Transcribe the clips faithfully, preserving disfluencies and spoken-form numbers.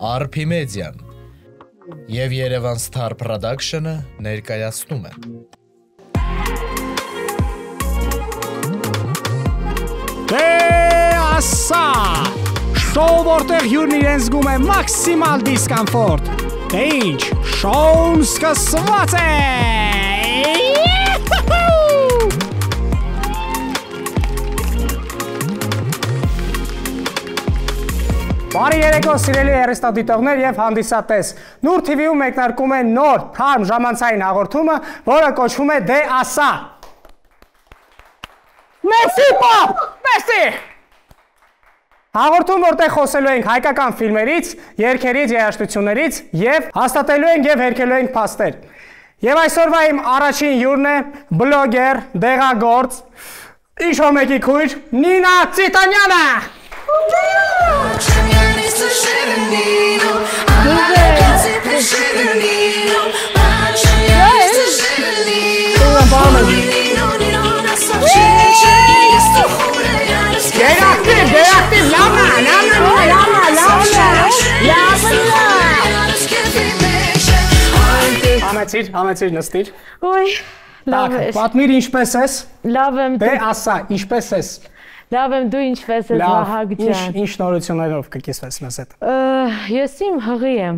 Arpimedian եւ Yerevan Star Production-ը ներկայացնում են։ Դե ասա, շոու որտեղ հյուրն իրեն զգում է մաքսիմալ դիսկոմֆորտ։ Դե ինչ, շոուն սկսված է։ Բարի երեկո սիրելի հեռուստադիտողներ եւ հանդիսատես։ Նուր Թի Վի-ում մեկնարկում է նոր թարմ ժամանցային հաղորդումը, որը կոչվում է Դե ասա։ Մերսի պապ, մերսի։ Հաղորդում, որտեղ խոսելու ենք հայկական ֆիլմերից, երգերից, երաժշտություններից եւ հաստատելու ենք եւ հերքելու ենք փաստեր։ Եվ այսօրվա իմ առաջին հյուրն է բլոգեր, դեղագործ, ինչ-որ մեկի քույր Նինա Ծիտանյանը։ Գերակտիվ, գերակտիվ, լավնա, լավնա, լավնա, լավնա, լավնա։ Համեցիր, համեցիր, նստիր։ Ոյ, լավ ես։ Պատմիր ինչպես ես։ Լավ եմ։ Դե ասա, ինչպես ես։ Լավ եմ, դու ինչպես ես, Վահագ ջան։ Ինչ նորություններով կկիսվես մեզ հետ։ Ես իմ հղի եմ։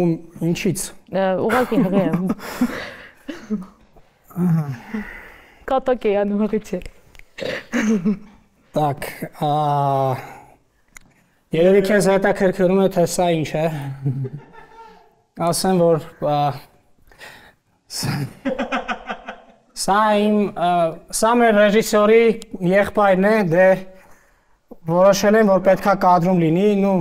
Ում ինչից։ Ուղղակի հղի եմ։ Կատակ է անում հղի չէ։ Так, երևի քեզ հետաքրքրում է, թե սա ինչ է։ Ասեմ, որ Սա իմ, սա մեր ռեժիսորի եղբայրն է, դե որոշել եմ, որ պետքա կադրում լինի, նու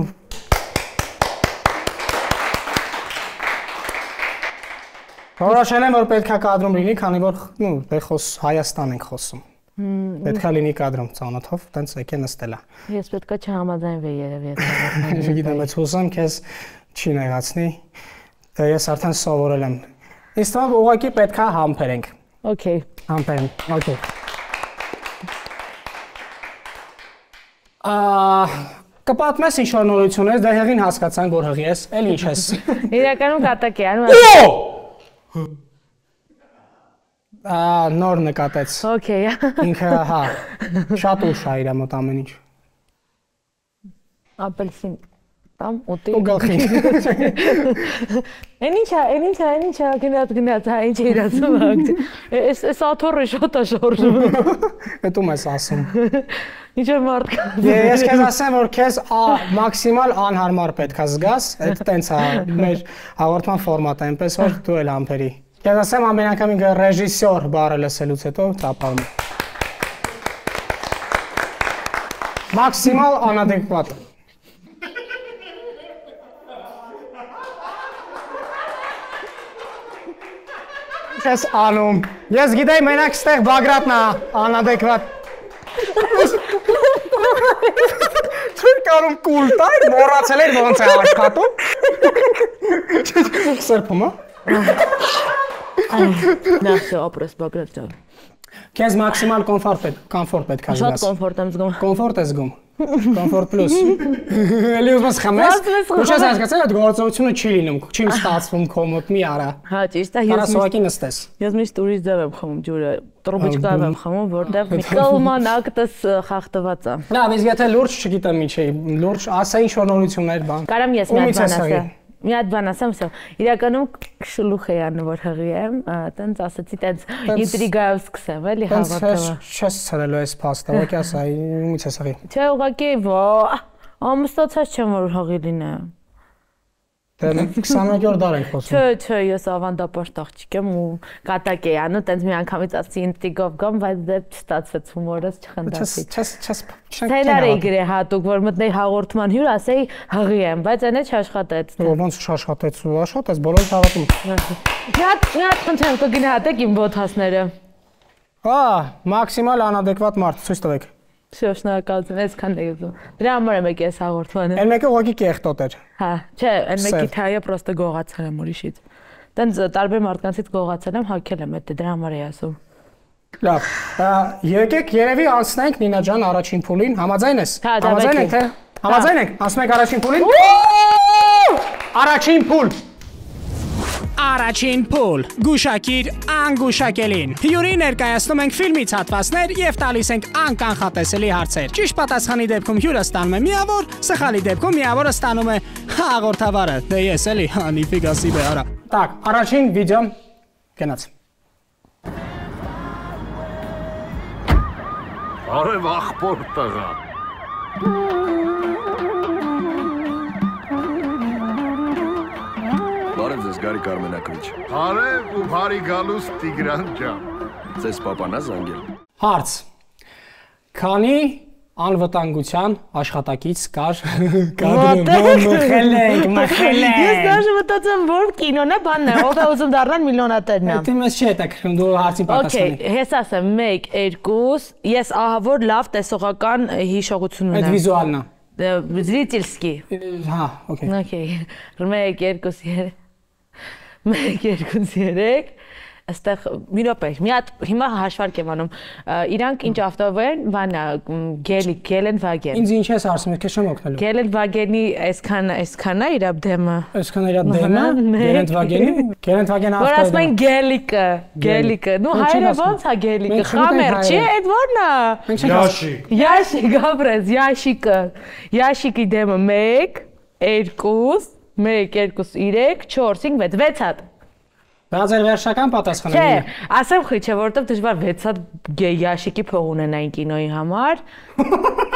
որոշել եմ, որ պետքա կադրում լինի, քանի որ նու դե խոս Հայաստան ենք խոսում։ Պետքա լինի կադրում ծանոթով, տենց եկե նստելա։ Ես պետքա չհամաձայնվեի երևի այդ։ Չգիտեմ, բայց հուսամ քեզ չի նեղացնի։ Ես արդեն սովորել եմ։ Ինձ թվում է ուղղակի պետքա համբերենք։ Okay. Համբերենք, okay։ Կպատմես ինչ-որ նորություններ, դե հեղին հասկացանք, որ հղի ես, էլ ինչ ես։ Իրականում կատակ է անում։ Նոր նկատեց։ Okay։ Ինքը, հա, շատ ուշ է իր մոտ ամեն ինչ։ Ապելսին տամ ուտի։ Ու գլխին։ Են ինչա, են ինչա, են ինչա, գնաց, գնաց, հա, ինչ է իրացում հագ։ Էս աթոռը շատ է շորժում։ Էդ ում ես ասում։ Ինչ է մարդ կա։ Ես քեզ ասեմ, որ քեզ մաքսիմալ անհարմար պետք է զգաս, այդ տենց է մեր հաղորդման ֆորմատը, այնպես որ դու էլ համբերի։ Քեզ ասեմ ամեն անգամ ինքը ռեժիսոր բառը լսելուց հետո տապալում է։ Մաքսիմալ անադեկվատ։ Ես անում, ես գիտեի մենակ ստեղ Բագրատն է անադեկվատ։ Չեն կարում կուլ տայր, մորացել էր ոնց է աշխատում։ Սրբում, Նա все, ապրես Բագրատ ջան։ Քեզ մաքսիմալ կոմֆորտ պետք է զգաս։ Շատ կոմֆորտ եմ զգում։ Կոմֆորտ ես զգում։ Կոմֆորտ պլյուս։ Էլի ուզում խմես։ Ու չես հասկացել, այդ գործողությունը չի լինում, չի ստացվում քո մոտ մի արա։ Հա, ճիշտ է, ես սովակի նստես։ Ես միշտ ուրիշ ձև եմ խմում ջուրը, տրոբիչկայով եմ խմում, որտեղ մի կլման ակտս խախտված է։ Լավ, իսկ եթե լուրջ չգիտեմ ինչ է, լուրջ ասա ինչ որ նորություններ բան։ Կարամ ես մի հատ բան ասեմ։ Մի հատ բան ասեմ, всё։ Իրականում շլուխ է անում, որ հղի եմ, տենց ասացի, տենց ինտրիգայով սկսեմ, էլի հաղորդումը։ Չես ցրելու այս փաստը, ո՞քի ասա, ումից ես հղի։ Չէ, ուղղակի, ամուսնացած չեմ, որ հղի լինեմ։ Դե քսաներորդ դար ենք խոսում։ Չէ, չէ, ես ավանդապաշտ աղջիկ եմ ու կատակ էի անում, տենց մի անգամից ասի ինտրիգով գամ, բայց դե չստացվեց հումորս չխնդացի։ Չես, չես, Սցենար էի գրել հատուկ, որ մտնեի հաղորդման հյուր, ասեի հղի եմ, բայց այնը չաշխատեց։ Ոնց չաշխատեց ու աշխատեց, բոլորը հավատում։ Մի հատ, մի հատ խնդրեմ, կգնահատեք իմ բոթասները։ Հա, մաքսիմալ անադեկվատ մարդ, ցույց տվեք։ Всё, շնորհակալություն, այսքան է ուզում։ Դրա համար եմ եկել այս հաղորդմանը։ Այն մեկը ուղղակի կեղտոտ էր։ Հա, չէ, այն մեկի թայը պրոստը գողացել եմ ուրիշից։ Տենց տարբեր մարդկանցից գողացել եմ, հագել եմ, դա դրա համար էի ասում։ Լավ, եկեք երևի անցնենք Նինա ջան առաջին փուլին, համաձայն ես։ Հա, համաձայն եք թե։ Համաձայն եք, անցնենք առաջին փուլին։ Առաջին փուլ։ Առաջին փուլ։ Գուշակիր անգուշակելին։ Հյուրի ներկայացնում ենք ֆիլմից հատվածներ եւ տալիս ենք անկանխատեսելի հարցեր։ Ճիշտ պատասխանի դեպքում հյուրը ստանում է միավոր, սխալի դեպքում միավորը ստանում է հաղորդավարը։ Դե ես էլի, հա, նիֆիգա սիբե արա։ Так, առաջին վիդեոն գնաց։ Արև աղբոր տղա։ Բարև ձեզ Գարիկ Արմենակրիչ։ Արև ու բարի գալուս Տիգրան ջան։ Ձեզ պապանա զանգել։ Հարց. Քանի անվտանգության աշխատակից կար կադրում մխել ենք, մխել ենք։ Ես դաժե մտածում որ կինոն է, բանն է, ով է ուզում դառնալ միլիոնատերն է։ Դե մեզ չի հետաքրքրում, դու հարցին պատասխանի։ Okay, ես ասեմ մեկ, երկու, ես ահա որ լավ տեսողական հիշողություն ունեմ։ Այդ վիզուալն է։ Զրիտելսկի։ Հա, okay։ Okay, մեկ, երկու, երեք։ Մեկ, երկու, երեք, այստեղ մի րոպե, մի հատ հիմա հաշվարկ եմ անում, իրանք ինչ ավտով են, բանա, Գելեն Վագեն։ Ինձ ինչ ես հարցնում, քեզ չեմ օգնելու։ Գելեն Վագենի այսքան, այսքան է իր դեմը։ Այսքան իր դեմը, Գելեն Վագենի, Գելեն Վագեն ավտոյը։ Որ ասում են Գելիկը, Գելիկը, նու հայերը ոնց է Գելիկը, խամեր, չի, այդ ո՞րն է։ Յաշիկ։ Յաշիկ, ապրես, Յաշիկը, Յաշիկի դեմը մեկ, երկու, մեկ, երկու, երեք, չորս, հինգ, վեց, վեց հատ։ Դա ձեր վերջական պատասխանը։ Չէ, ասեմ խի չէ, որովհետև դժվար վեց հատ Յաշիկի փող ունենային կինոյի համար։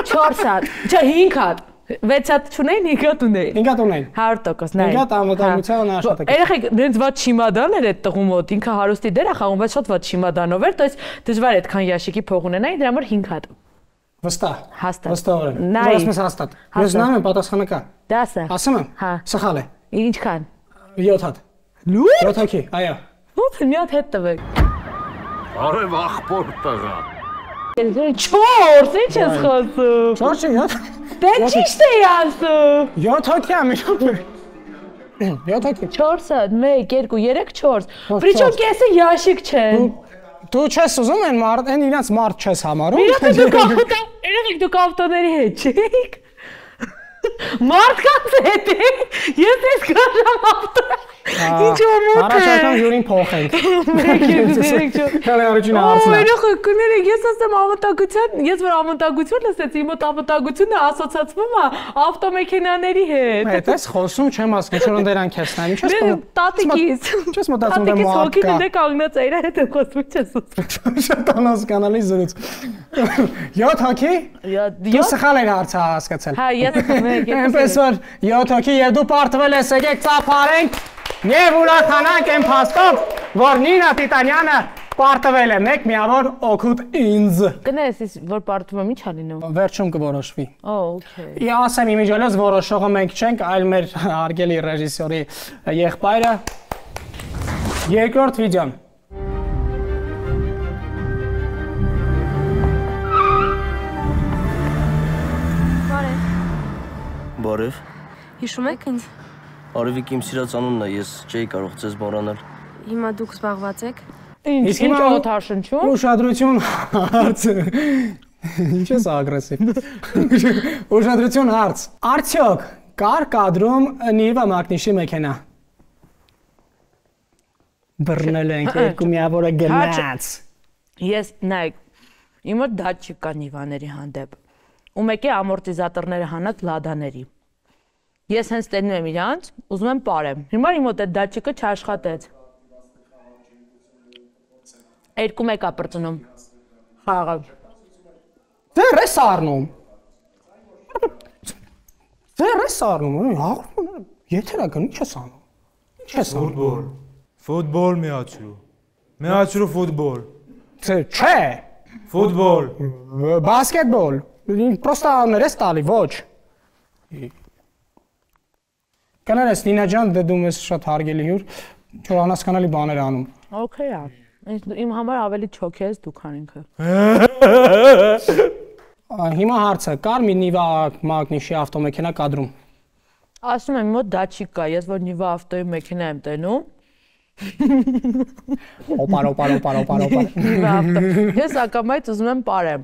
չորս հատ, չէ, հինգ հատ։ վեց հատ չունեին, հինգ հատ ունեին։ հինգ հատ ունեին։ հարյուր տոկոս, նայ։ հինգ հատ անվտանգության աշխատակից։ Երեխեք, նենց ված չիմադան էր այդ տղու մոտ, ինքը հարուստի դեր է խաղում, բայց շատ ված չիմադանով էր, դες դժվար այդքան Յաշիկի փող ունենային, դրա համար հինգ հատ։ Վստահ։ Հաստատ։ Վստահորեն։ Նայ։ Դու ասում ես հաստատ։ Ես նայում եմ պատասխանը կա։ Դա ասա։ Ասում եմ։ Հա։ Սխալ է։ Ինչքան։ յոթ հատ։ Լու։ յոթ հոգի, այո։ Ո՞ց մի հատ հետ տվեք։ Արև աղբոր տղա։ չորս, ինչ ես խոսում։ չորս յոթ։ Դե ճիշտ է ասում։ յոթ հոգի եմ իշխում։ յոթ հոգի։ չորս հատ, մեկ, երկու, երեք, չորս։ Պրիչոմ կեսը Յաշիկ չեն։ Դու չես ուզում են մարդ, են իրանց մարդ չես համարում։ Իրաք դուք ավտո, իրաք դուք ավտոների հետ չեք։ Մարդկանց հետ է։ Ես ես գարամ ավտո։ Ինչ օմոտ է։ Առաջարկում յուրին փոխենք։ Մեկ, երկու, երեք, չորս։ Հələ առաջին հարցն է։ Այո, կներեք, ես ասեմ ամտագության, ես որ ամտագություն լսեցի, իմ ամտագությունը ասոցացվում է ավտոմեքենաների հետ։ Այդ էս խոսում չեմ ասում, ինչ որ դրանք ես նայում, չես Դե տատիկից։ Չես մտածում դե մարդ հոգին կա։ դե կանգնած է, իր հետ խոսում չես ուզում։ Շատ անհասկանալի զրույց։ յոթ հոգի։ Դու սխալ ես հարցը հասկացել։ Հա, ես մեկ Այնպես որ յոթ հոգի եւ դու պարտվել ես, եկեք ծափարենք եւ ուրախանանք այն փաստով, որ Նինա Տիտանյանը պարտվել է մեկ միավոր օգուտ ինձ։ Կներես, որ պարտվում ինչ ալինում։ Վերջում կորոշվի։ Օ, օքեյ։ Ես ասեմ իմիջիալս որոշողը մենք չենք, այլ մեր արգելի ռեժիսորի եղբայրը։ Երկրորդ վիդեոն։ Բարև։ Հիշում եք ինձ։ Արևիկ իմ սիրած անունն է, ես չէի կարող ձեզ մոռանալ։ Հիմա դուք զբաղված եք։ Ինչ Իսկ ինչ հիմա օթարշնչում։ Ուշադրություն հարց։ Ինչ ես ագրեսիվ։ Ուշադրություն հարց։ Արդյոք կար կադրում Նիվա Մակնիշի մեքենա։ Բռնել ենք երկու միավորը գնաց։ Ես նայ իմ մոտ դա չկա Նիվաների հանդեպ։ Ու մեկի ամորտիզատորները հանած լադաների։ Ես հենց տենում եմ իրանց, ուզում եմ ապարեմ։ Հիմա իմ մոտ այդ դաչիկը չաշխատեց։ Երկու մեկ է պրծնում։ Խաղաղ։ Դեռ ես առնում։ Դեռ ես առնում, հաղորդում եթերական ինչ ես անում։ Ինչ ես անում։ Ֆուտբոլ։ Ֆուտբոլ միացրու։ Միացրու ֆուտբոլ։ Չէ։ Ֆուտբոլ։ Բասկետբոլ։ Պրոստա ներես տալի, ոչ։ Կանարես Նինա ջան, դե դու մեզ շատ հարգելի հյուր, որ անհասկանալի բաներ անում։ Okay, է։ Իմ համար ավելի չոք ես դու քան ինքը։ Հիմա հարցը, կար մի Նիվա Մագնիշի ավտոմեքենա կադրում։ Ասում եմ մոտ դա չի կա, ես որ Նիվա ավտոյի մեքենա եմ տենում։ Օպար, օպար, օպար, օպար, օպար։ Նիվա ավտո։ Ես ակամայից ուզում եմ ապարեմ։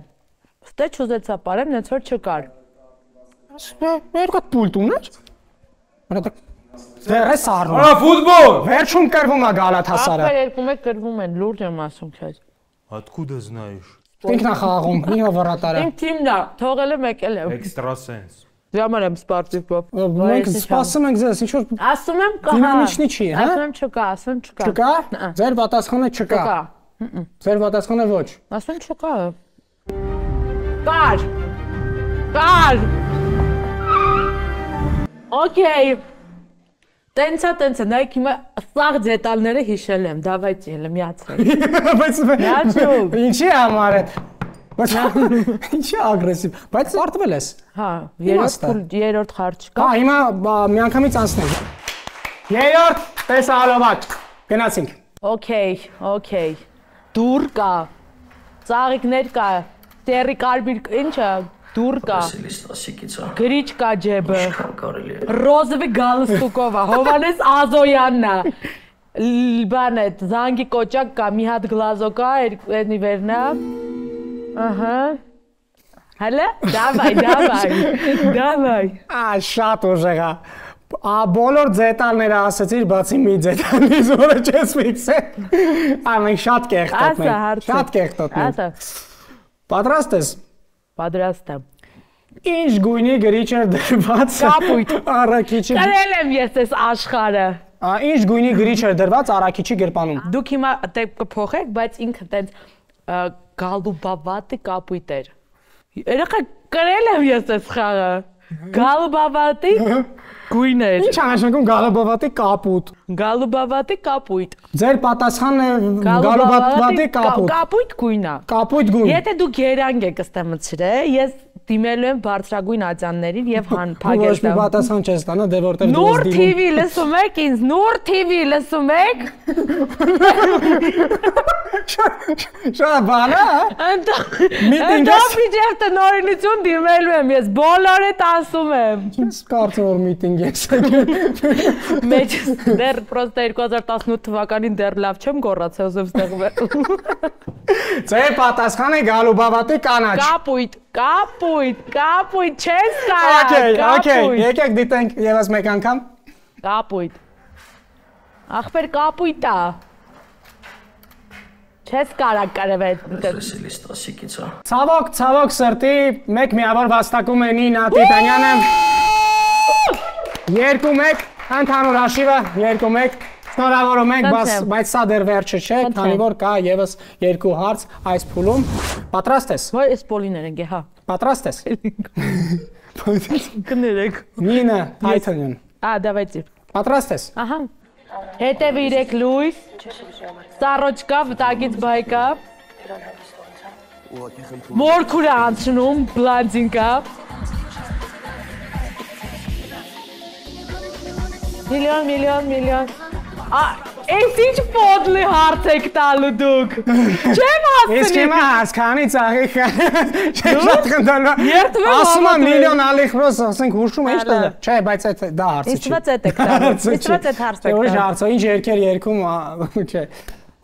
Ստե չուզեցա ապարեմ, նենց որ չկար։ Երկու պուլտ ուներ։ Արա դա Ձեր է սառնում։ Արա ֆուտբոլ։ Վերջում կրվում է Գալաթասարը։ Ախպեր երկու մեկ կրվում են, լուրջ եմ ասում քեզ։ Откуда знаешь? Ինքն է խաղաղում, ինքն է վռատարը։ Իմ թիմն է, թողել եմ եկել եմ։ Экстрасенс։ Դրա համար եմ սպարտիվ պոպ։ Մենք սպասում ենք ձեզ, ինչ որ Ասում եմ կա։ դինամիչնի չի, հա։ Ասում եմ չկա, ասում եմ չկա։ Չկա։ Ձեր պատասխանը չկա։ Չկա։ Ձեր պատասխանը ոչ։ Ասում եմ չկա։ Կար։ Կար։ Okay։ Տենցա, տենցա, նայեք հիմա սաղ դետալները հիշել եմ, դավայց ելը միացրեք։ Բայց Միացրու։ ինչի համար է։ Բայց ինչի ագրեսիվ։ Բայց արտվել ես։ Հա, երրորդ փուլ, երրորդ խարջ կա։ Հա, հիմա միանգամից անցնենք։ Երրորդ տեսահոլովակ։ Գնացինք։ Okay, okay։ Դուր կա։ Ծաղիկներ կա։ Տերի կարմիր, ինչա, դուր կա։ Գրիչ կա ջեբը։ Ռոզովի գալստուկովա, Հովանես Ազոյանն է։ Բան է, զանգի կոճակ կա, մի հատ գլազո կա, երկնի վերնա։ Ահա։ Հələ, դավայ, դավայ, դավայ։ Ա, շատ ուժեղ է։ Ա բոլոր ձետալները ասեցիր, բացի մի ձետալից, որը չես ֆիքսել։ Ա մենք շատ կեղտոտ Ասա, հարցը։ Շատ կեղտոտ մենք։ Ասա։ Պատրաստ ես։ Պատրաստ եմ։ Ինչ գույնի գրիչ էր դրված։ Կապույտ։ Առաքիչի։ Կրել եմ ես այս աշխարհը։ Ա ինչ գույնի գրիչ էր դրված առաքիչի գրպանում։ Դուք հիմա դեպ կփոխեք, բայց ինքը տենց գալուբավատի կապույտ էր։ Երեխա կրել եմ ես այս խաղը։ Գալուբավատի գույն էր։ Ինչ անշանակում գալուբավատի կապույտ։ Գալուբավատի կապույտ։ Ձեր պատասխանն է գալուբավատի կապույտ։ Կապույտ գույն է։ Կապույտ գույն։ Եթե դու գերանք եք ստամցրել, ես դիմելու եմ բարձրագույն ատյաններին եւ հան Ոչ մի փակել։ պատասխան չես տանա, դե որտեղ դու Նուր ես T V լսում եք ինձ, Նուր T V լսում եք։ Շատ բան է։ Անտո միջև տնօրինություն դիմելու եմ ես, բոլորը ասում եմ։ Ինչ կարծում որ միտինգ ես եկել։ Մեջ դեռ պրոստը երկու հազար տասնութ թվականին դեռ լավ չեմ գոռացել, ուզում ստեղվել։ Ձեր պատասխանը գալուբավատի կանաչ։ Կապույտ, կապույտ, կապույտ, չես Okay, կարա, okay, կապույտ, եկեք դիտենք եւս մեկ անգամ։ կապույտ։ Ախպեր կապույտ է։ Չես կարա կարևել։ Ցավոք, ցավոք սրտի, մեկ միավոր վաստակում է Նինա Տիտանյանը։ երկու մեկ, ընդհանուր հաշիվը երկու մեկ։ Շնորհավորում ենք, բայց սա դեռ վերջը չէ, քանի որ կա եւս երկու հարց այս փուլում։ Պատրաստ ես։ Ոայ էս պոլիներ ենք, հա։ Պատրաստ ես։ Կներեք։ Նինա Տիտանյան։ Ա, դավայցի։ Պատրաստ ես։ Ահա։ Հետևիրեք լույս։ Սառոջկա, վտակից բայկա։ Մորքուր է անցնում, բլանդինկա։ Միլիոն, միլիոն, միլիոն։ Ա, այս ինչ պոդլի հարց եք տալու դուք։ Չեմ Իսկ ասցնի։ հիմա հասկանի ծաղիկ շատ խնդալու։ Երդվում եմ Ասում եմ հավատում միլիոն ալիխրոս, ասենք հուշում ինչ տեղ։ Չէ, բայց այդ դա հարցը չի։ Իստված էդ եք տալու։ Իստված էդ հարցը եք Ոչ տալու։ հարցը, ինչ երկեր երկում, չէ։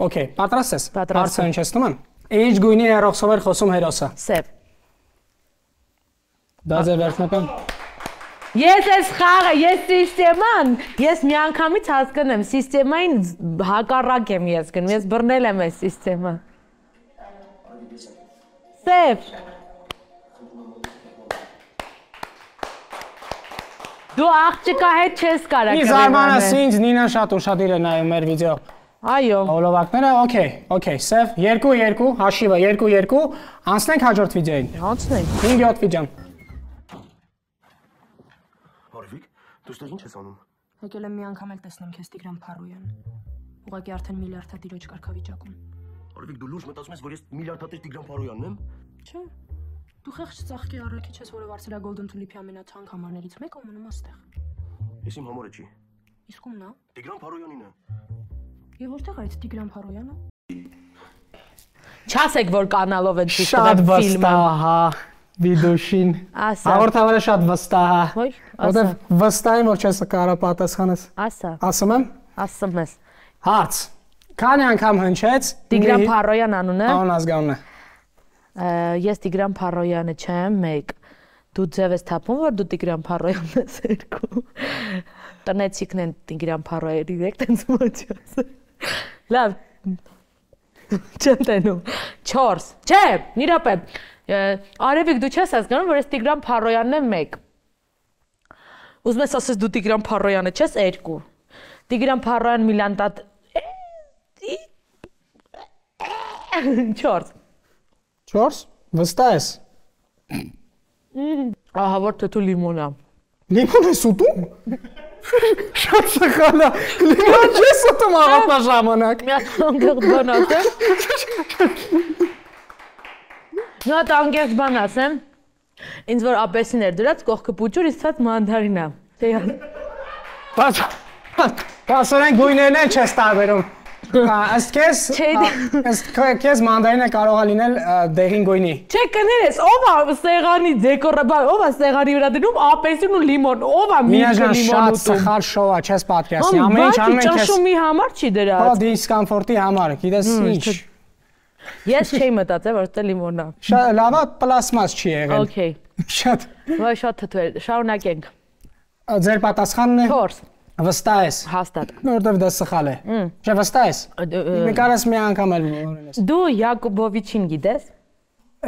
Okay, պատրաստ ես։ Հարցը հնչեցնում եմ։ Ինչ գույնի հերոսով էր խոսում հերոսը։ Սև։ Դա ձեր վերջնական։ Ես ես խաղը, ես սիստեման, ես միանգամից հասկնեմ, սիստեմային հակառակ եմ ես գնում, ես բռնել եմ այս սիստեմը։ Սև։ Դու աղջիկա հետ չես կարա Մի զարմանաս ինձ Նինան շատ ուշադիր է նայում մեր վիդեո։ Այո։ Հոլովակները, okay, okay, սև, երկու երկու, հաշիվը երկու երկու, անցնենք հաջորդ վիդեոին։ Անցնենք։ հինգ յոթ վիդեոն։ Արվիկ, դու ստեղ ինչ ես անում։ Եկել եմ մի անգամ էլ տեսնեմ քեզ Տիգրան Փարոյան։ Ուղղակի արդեն միլիարդատիրոջ կարգավիճակում։ Արվիկ, դու լուրջ մտածում ես, որ ես միլիարդատիր Տիգրան Փարոյանն եմ։ Չէ։ Դու խեղճ ծաղկի առաքիչ ես, որը վարձել է Golden Tulip-ի ամենաթանկ համարներից մեկը ու մնում աստեղ։ Ես իմ համարը չի։ Իսկ ումն է։ Տիգրան Փարոյանին է։ Եվ որտեղ է այդ Տիգրան Փարոյանը։ Չասեք, որ կանալով են ցույց Շատ տվել ֆիլմը։ վստահ, հա, վիդեոշին։ Ասա։ Հաղորդավարը շատ վստահ է։ Ոյ, Որտեվ ասա։ վստահ եմ, որ չես կարա պատասխանես։ Ասա։ Ասում եմ։ Ասում ես։ Հարց։ Քանի անգամ հնչեց Տիգրան Փարոյան անունը։ Անուն ազգանունը։ Ես Տիգրան Փարոյանը չեմ, մեկ։ Դու ձև ես թափում, որ դու Տիգրան Փարոյանն ես երկու։ տնեցիկն են Տիգրան Փարոյի դիրեկտ են զմոջած։ Լավ։ Չեմ տենում։ չորս։ Չէ, մի րոպե։ Արևիկ դու չես հասկանում, որ այս Տիգրան Փարոյանն է մեկ։ Ուզում ես ասես դու Տիգրան Փարոյանը չես երկու։ Տիգրան Փարոյան Միլանտատ չորս։ չորս։ Վստահ ես։ Ահա որ թեթու լիմոնա։ Լիմոն ես ուտում։ Շատ սխալ է։ Լիմոն չես ուտում առավոտվա ժամանակ։ Մի հատ անգեղծ բան ասեմ։ Մի հատ անգեղծ բան ասեմ։ Ինձ որ ապեսին էր դրած կողքը պուճուր, իսկ ցած մանդարինա։ Բայց Պասորեն գույներն են չես տարբերում։ Ըստ քեզ, ըստ քեզ մանդարինը կարող է լինել դեղին գույնի։ Չէ, կներես, ով է սեղանի դեկորը, ով է սեղանի վրա դնում ապեսին ու լիմոն, ով է միրգը լիմոն ուտում։ Շատ սխալ շոու է, չես պատկերացնի։ Ամեն ինչ անում են քեզ։ Ճաշումի համար չի դրած։ Հա, դիսկոմֆորտի համար, գիտես ինչ։ Ես չէի մտածել, որ դա լիմոնն է։ Շատ լավ է, պլաստմաս չի եղել։ Okay։ Շատ։ Ոայ շատ թթվեր, շարունակենք։ Ձեր պատասխանն է։ չորս։ Վստահ ես։ Հաստատ։ Որտեվ դա սխալ է։ Չէ, վստահ ես։ Մի կարաս մի անգամ էլ օրենես։ Դու Յակոբովիչին գիտես։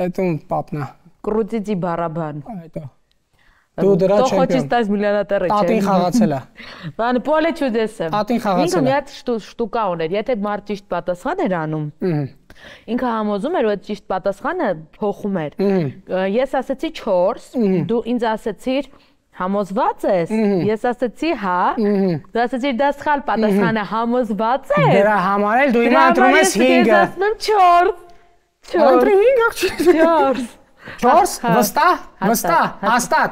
Այդում պապնա։ Կրուտիցի բարաբան։ Այդո։ Դու դրա չեմպիոն։ То хочешь стать миллионером։ Տատին խաղացել է։ Բան պոլե չուդեսը։ Տատին խաղացել է։ Ինքը մի հատ շտուկա ուներ, եթե մարդ ճիշտ պատասխան էր անում։ Ինքը համոզում էր, որ ճիշտ պատասխանը փոխում էր։ Ես ասացի չորս, դու ինձ ասացիր համոզված ես, ես ասացի հա, դու ասացիր դա սխալ պատասխան է, համոզված ես։ Դրա համար էլ դու հիմա ընտրում ես հինգը։ Ես ասում չորս։ Ընտրի հինգ աղջիկ։ չորս։ չորս, վստահ, վստահ, հաստատ։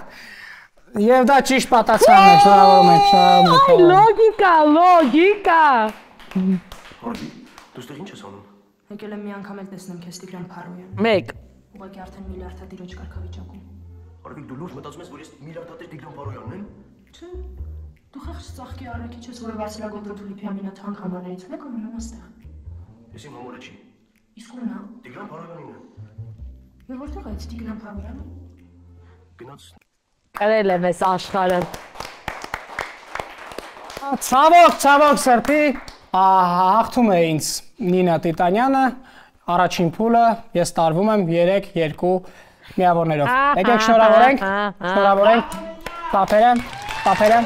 Եվ դա ճիշտ պատասխանն է, շնորհավորում ենք, շնորհավորում ենք։ Լոգիկա, լոգիկա։ Հորդի, դու ստեղ ինչ ես անում։ Եկել եմ մի անգամ էլ տեսնեմ քեզ Տիգրան Փարոյան։ մեկ։ Ուղղակի արդեն միլիարդատիրոջ կարգավիճակում։ Արվիկ դու լուրջ մտածում ես, որ ես միլիարդատեր Տիգրան Փարոյանն եմ։ Չէ։ Դու խեղճ ծաղկի արարքիչ ես, որը վարձրագոտ Թուլիփի ամենաթանկ համարներից մեկը մնում այստեղ։ Ես իմ համարը չի։ Իսկ ո՞ւն է։ Տիգրան Փարոյանին է։ Եվ որտեղ է այդ Տիգրան Փարոյանը։ Գնաց։ Կրել եմ այս աշխարհը։ Ցավոք, ցավոք սրտի, հաղթում է ինձ Նինա Տիտանյանը, առաջին փուլը ես տարվում եմ երեք երկու միավորներով։ Եկեք շնորհավորենք, շնորհավորենք, տափերը, տափերը,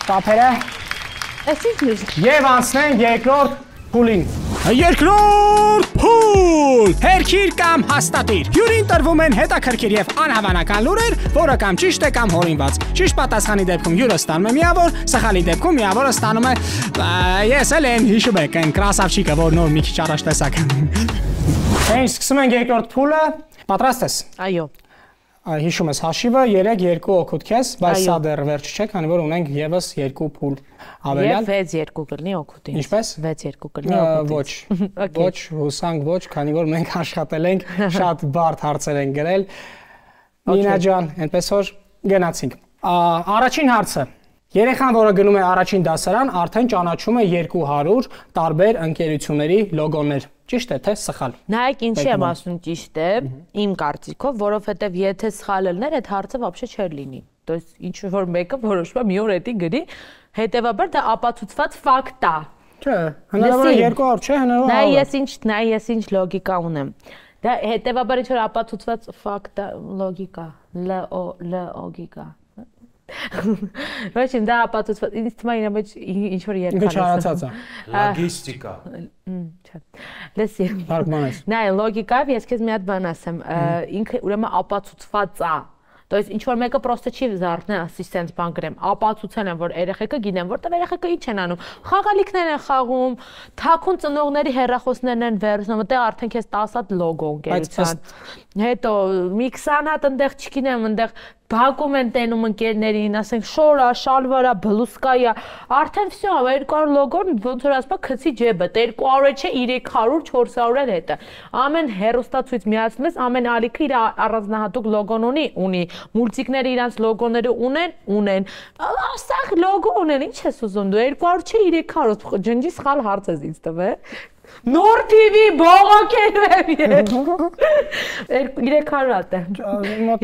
տափերը, Այս ինչ է։ և անցնենք երկրորդ փուլին։ Երկրորդ փուլ, հերքիր կամ հաստատիր։ Հյուրին տրվում են հետաքրքիր եւ անհավանական լուրեր, որը կամ ճիշտ է կամ հորինված։ Ճիշտ պատասխանի դեպքում հյուրը ստանում է միավոր, սխալի դեպքում միավորը ստանում է ես էլ են հիշում եք այն կրասավչիկը, որ նոր մի քիչ առաջ տեսակ։ Մենք սկսում ենք երկրորդ փուլը, պատրաստ ես։ Այո։ Հիշում ես հաշիվը երեք երկու օգուտ քեզ, բայց սա դեռ վերջ չէ, քանի որ ունենք եւս երկու փուլ ավելյալ։ Եվ վեց երկու կլինի օգուտին։ Ինչպես։ վեց երկու կլինի օգուտին։ Ոչ։ Ոչ, հուսանք ոչ, քանի որ մենք աշխատել ենք, շատ բարդ հարցեր են գրել։ Նինա ջան, այնպես որ գնացինք։ Առաջին հարցը։ Երեխան, որը գնում է առաջին դասարան, արդեն ճանաչում է երկու հարյուր տարբեր ընկերությունների լոգոներ։ Ճիշտ է, թե սխալ։ Նայեք ինչի եմ ասում ճիշտ է, իմ կարծիքով, որովհետև եթե սխալ ելներ, այդ հարցը вообще չէր լինի։ То есть ինչ որ մեկը որոշվում է մի օր էդի գրի, հետեւաբար դա ապացուցված ֆակտ է։ Չէ, հնարավոր է երկու օր, չէ, հնարավոր է։ Նայ ես ինչ, նայ ես ինչ լոգիկա ունեմ։ Դա հետեւաբար ինչ որ ապացուցված ֆակտ է, լոգիկա, L-O L-օգիկա։ Ոչ, դա ապացուցված, ինձ թվում է իրա մեջ ինչ որ երկար է։ Ինչ հարացած է։ Լոգիստիկա։ Չէ։ Լսի։ Թարգմանես։ Նայ, լոգիկայով ես քեզ մի հատ բան ասեմ, ինքը ուրեմն ապացուցված է։ То есть ինչ որ մեկը պրոստը չի զարթնի, ասի սենց բան գրեմ, ապացուցել են, որ երեխեքը գիտեն, որտեղ երեխեքը ինչ են անում։ Խաղալիքներ են խաղում, թաքուն ծնողների հեռախոսներն են վերցնում, այդտեղ արդեն քեզ տասը հատ լոգո ընկերության։ Հետո մի քսան հատ այնտեղ չգիտեմ, այնտեղ բակում են տենում ընկերներին, ասենք շորա, շալվարա, բլուսկայա, արդեն всё, երկու հարյուր լոգոն ոնց որ ասում քցի ջեբը, երկու հարյուր չէ, երեք հարյուր, չորս հարյուր էլ հետը։ Ամեն հերոստացույց միացնում ես, ամեն ալիքը իր առանձնահատուկ լոգոն ունի, ունի, մուլտիկները իրանց լոգոները ունեն, ունեն։ Ասախ լոգո ունեն, ինչ ես ուզում դու, երկու հարյուր չէ, երեք հարյուր, ջնջի սխալ հարց ես ինձ տվել։ Նոր թի վի բողոքելու եմ ես։ երեք հարյուր հատ է։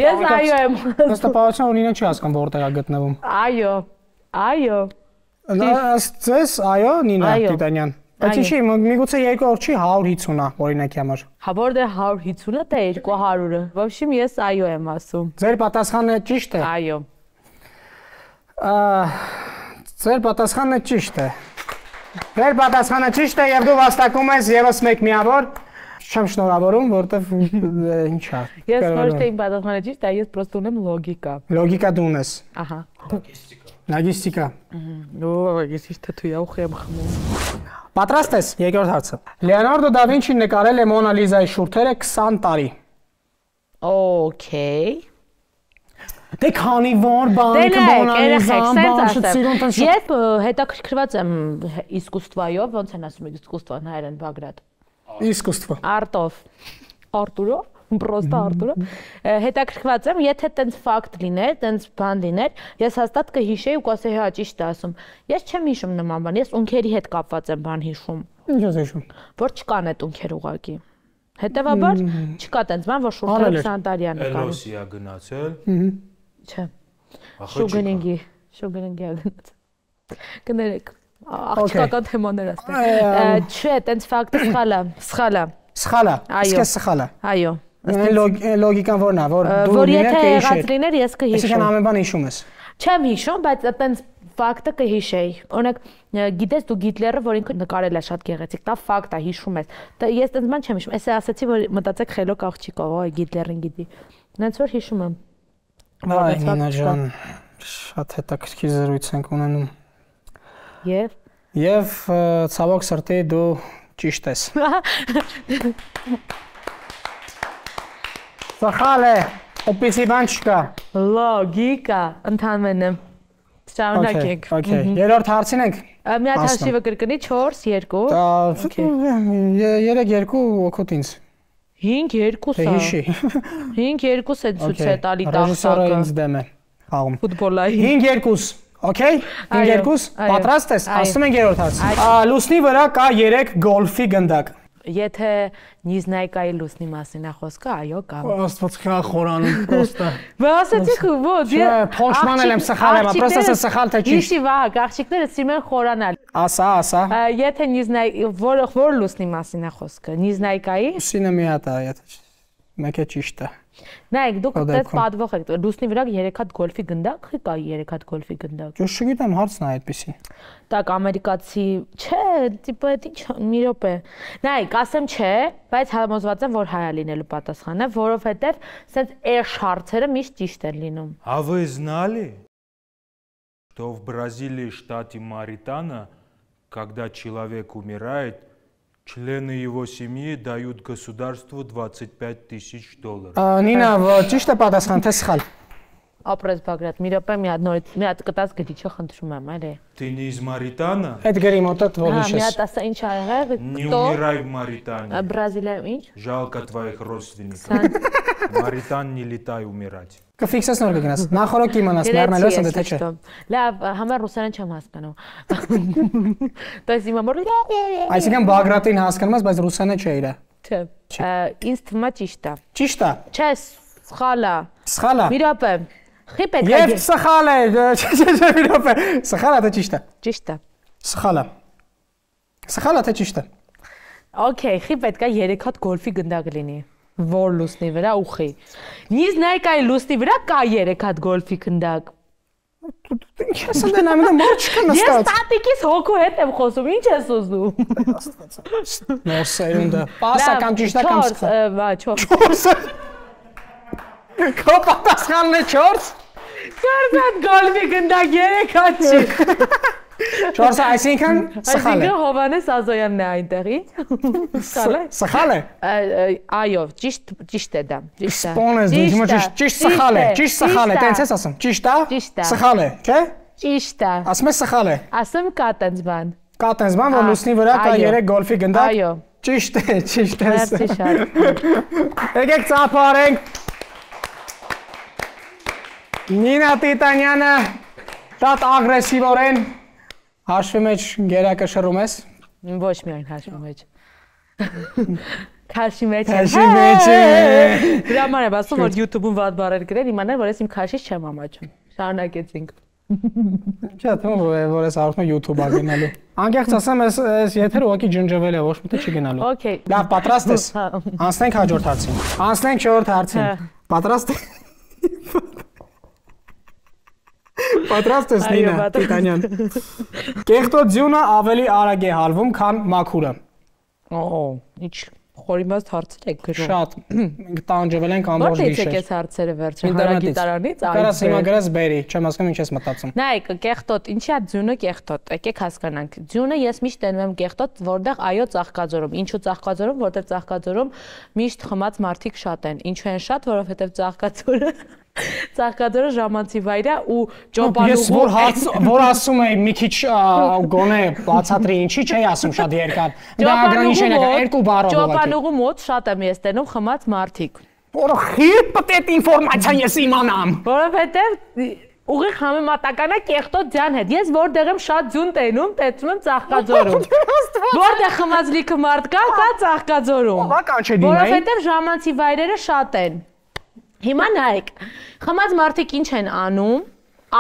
Ես այո եմ։ Հստակաբար ունին չի հասկանում որտեղ է գտնվում։ Այո։ Այո։ Ըստ ձեզ, այո, Նինա Տիտանյան։ Բայց ինչի, միգուցե երկու օր չի հարյուր հիսուն է, օրինակի համար։ Հա որտե հարյուր հիսունը թե երկու հարյուրը։ Ոբշիմ ես այո եմ ասում։ Ձեր պատասխանը ճիշտ է։ Այո։ Ձեր պատասխանը ճիշտ է։ Ձեր պատասխանը ճիշտ է եւ դու վաստակում ես եւս մեկ միավոր։ Չեմ շնորհավորում, որովհետեւ ինչ է։ Ես ոչ թե իմ պատասխանը ճիշտ է, ես պրոստը ունեմ լոգիկա։ Լոգիկա դու ունես։ Ահա։ Լոգիստիկա։ Ո, ես ինչ թույա ուխ եմ խմում։ Պատրաստ ես, երկրորդ հարցը։ Լեոնարդո դա Վինչին նկարել է Մոնա Լիզայի շուրթերը քսան տարի։ Okay։ Դե քանի որ բանկը Մոնա Լիզան բանջեցիրուն։ Ես հետաքրքրված եմ իսկուստվայով, ոնց են ասում իսկուստվան հայերեն Բագրատ։ Իսկուստվա։ Արտով։ Արտուրով, պրոստա Արտուրով։ Հետաքրքրված եմ, եթե տենց ֆակտ լիներ, տենց բան լիներ, ես հաստատ կհիշեի ու կասեի հա ճիշտ է ասում։ Ես չեմ հիշում նման բան, ես ունքերի հետ կապված եմ բան հիշում։ Ինչ ես հիշում։ Որ չկան այդ ունքեր ուղակի։ Հետևաբար չկա տենց բան, որ շուրթերը քսան տարի է նկարում։ Էլոսի է գնացել։ Չէ։ Շուգնինգի, շուգնինգի է գնացել։ Կներեք, աղջկական թեմաներ ասել։ Չէ, տենց ֆակտը սխալ է, սխալ է։ Սխալ է։ Իսկ սխալ է։ Այո։ Լոգիկան որն է, որ դու որ եթե եղած լիներ, ես կհիշեմ։ Այսինքն ամեն բան հիշում ես։ Չեմ հիշում, բայց այտենց ֆակտը կհիշեի։ Օրինակ, գիտես դու Գիտլերը, որ ինքը նկարել է շատ գեղեցիկ, դա ֆակտ է, հիշում ես։ Ես այտենց բան չեմ հիշում։ Էսե ասացի, որ մտածեք խելոք աղջիկ ով է Գիտլերին գիտի։ Նենց որ հիշում եմ։ Այ Նինա ջան, շատ հետաքրքիր զրույց ենք ունենում։ Եվ Եվ ցավոք սրտի դու ճիշտ ես։ Սխալ է, այդպիսի բան չկա։ Լոգիկա, ընդհանրապես։ Շարունակենք։ Okay, երրորդ հարցին ենք։ Մի հատ հաշիվը կրկնի չորս երկու։ երեք երկու օգուտ ինձ։ հինգ երկու սա։ Հիշի։ հինգ երկու է ցույց է տալի տախտակը։ Ռեժիսորը ինձ դեմ է խաղում։ Ֆուտբոլային։ հինգ երկու, okay? հինգ երկու, պատրաստ ես։ Ասում ենք երրորդ հարցը։ Լուսնի վրա կա երեք գոլֆի գնդակ։ Եթե Նիզնայկայի լուսնի մասին է խոսքը, այո, կա։ Աստված քա խորանում պրոստը։ Բա ասեցիք ո՞ց։ Չէ, փոշմանել եմ սխալ եմ, պրոստը սա սխալ թե ճիշտ։ Իշի վահ, աղջիկները սիրում են խորանալ։ Ասա, ասա։ Եթե Նիզնայ որ որ լուսնի մասին է խոսքը, Նիզնայկայի։ Սինը մի հատ է, եթե մեկը ճիշտ է։ Նայեք, դուք դες պատվող եք։ Լուսնի վրա երեք հատ գոլֆի գնդակ, կա երեք հատ գոլֆի գնդակ։ Ես չգիտեմ, հարցն է այդպեսին։ Так, ամերիկացի, չէ, տիպը այդ ինչ մի րոպե։ Նայեք, ասեմ չէ, բայց համոզված եմ, որ հայ է լինելու պատասխանը, որովհետև սենց էշ հարցերը միշտ ճիշտ են լինում։ А вы знали, что в Бразилии, штате Маритана, когда человек умирает, члены его семьи дают государству двадцать пять тысяч долларов? Նինա, ճիշտ է պատասխան, թե սխալ։ Ապրես Բագրատ, մի րոպե մի հատ նորից, մի հատ կտած գտիչը խնդրում եմ, այլ է։ Ты не из Маритана? Այդ գրի մոտդ որ Հա, մի հիշես։ հատ ասա ինչ ա եղել։ Не умирай в Маритане. Բրազիլիայում ինչ։ Жалко твоих родственников. Маритан не летай умирать. Կֆիքսես նոր կգնաս։ Նախորդ իմանաս մեռնելու ես դե թե չէ։ Լավ, համար ռուսերեն չեմ հասկանում։ Դες իմ ամոր։ Այսինքն Բագրատին հասկանում ես, բայց ռուսերենը չէ իրա։ Չէ։ Ինձ թվում է ճիշտ է։ Ճիշտ է։ Չէ, սխալ է։ Սխալ է։ Մի րոպե։ Խի պետք է։ Եվ սխալ է, չէ, չէ, մի րոպե։ Սխալ է թե ճիշտ է։ Ճիշտ է։ Սխալ է։ Սխալ է թե ճիշտ է։ Okay, խի պետք է երեք հատ գոլֆի գնդակ լինի։ Որ լուսնի վրա ուխի։ Նիզնայկայի լուսնի վրա կա երեք հատ գոլֆի գնդակ։ Ինչ ես դե նայում եմ մոտ չկա նստած։ Ես տատիկիս հոգու հետ եմ խոսում, ինչ ես ուզում։ Նոր սերունդը։ Պասա կամ ճիշտ է կամ սխալ։ Բա, չորս։ Քո պատասխանն է չորս։ Չորս հատ գոլֆի գնդակ երեք հատ չի։ չորսը այսինքն սխալ է։ Այսինքն Հովանես Ազոյանն է այնտեղի։ Սխալ է։ Սխալ է։ Այո, ճիշտ ճիշտ է դա, ճիշտ է։ Սպոնես դու հիմա ճիշտ ճիշտ սխալ է, ճիշտ սխալ է, տենց ես ասում։ Ճիշտ է։ Ճիշտ է։ Սխալ է, չէ։ Ճիշտ է։ Ասում ես սխալ է։ Ասում կա տենց բան։ Կա տենց բան, որ լուսնի վրա կա երեք գոլֆի գնդակ։ Այո։ Ճիշտ է, ճիշտ է։ Մերսի շատ։ Եկեք ծափարենք։ Նինա Տիտանյանը շատ ագրեսիվորեն հաշվի մեջ գերակը շռում ես։ Ոչ միայն հաշվի մեջ։ Քաշի մեջ։ Քաշի մեջ։ Դրա համար եմ ասում, որ YouTube-ում վատ բառեր գրել, իմանալ, որ ես իմ քաշից չեմ ամաչում։ Շարունակեցինք։ Չէ, թվում է, որ ես արդեն YouTube-ա գնալու։ Անկեղծ ասեմ, ես ես եթերը ուղղակի ջնջվել է, ոչ մի տեղ չի գնալու։ Okay։ Լավ, պատրաստ ես։ Անցնենք հաջորդ հարցին։ Անցնենք չորրորդ հարցին։ Պատրաստ ես։ Պատրաստ ես Նինա Տիտանյան։ Կեղտոտ ձյունը ավելի արագ է հալվում, քան մաքուրը։ Օ, ինչ խորիմաստ հարցեր եք գրում։ Շատ։ Մենք տանջվել ենք ամբողջ Որտե՞ց գիշեր։ եկես հարցերը վերջը հարագիտարանից, այլ։ Կարաս հիմա գրես բերի, չեմ հասկանում ինչ ես մտածում։ Նայեք, կեղտոտ, ինչի է ձյունը կեղտոտ։ Եկեք հասկանանք։ Ձյունը ես միշտ տենում եմ կեղտոտ, որտեղ այո ծաղկաձորում։ Ինչու ծաղկաձորում, որտեղ ծաղկաձորում միշտ խմած մարդիկ շատ են։ Ինչու են շատ, որովհետև ծաղկաձորը Ծաղկաձորը ժամանցի վայր է ու ճոպանուղու։ Ես որ հարց որ ասում էի մի քիչ գոնե բացատրի ինչի չէի ասում շատ երկար։ Դա ագրանիշն է երկու բառով։ Ճոպանուղու մոտ շատ եմ ես տենում խմած մարդիկ։ Որ խիտ պետք է ինֆորմացիան ես իմանամ։ Որովհետև ուղիղ համեմատական է կեղտոտ ձյան հետ։ Ես որտեղ եմ շատ ձյուն տենում, տեսնում եմ ծաղկաձորում։ Որտեղ խմած լիքը մարդ կա, կա ծաղկաձորում։ Որովհետև ժամանցի վայրերը շատ են։ Հիմա նայեք, խմած մարդիկ ինչ են անում,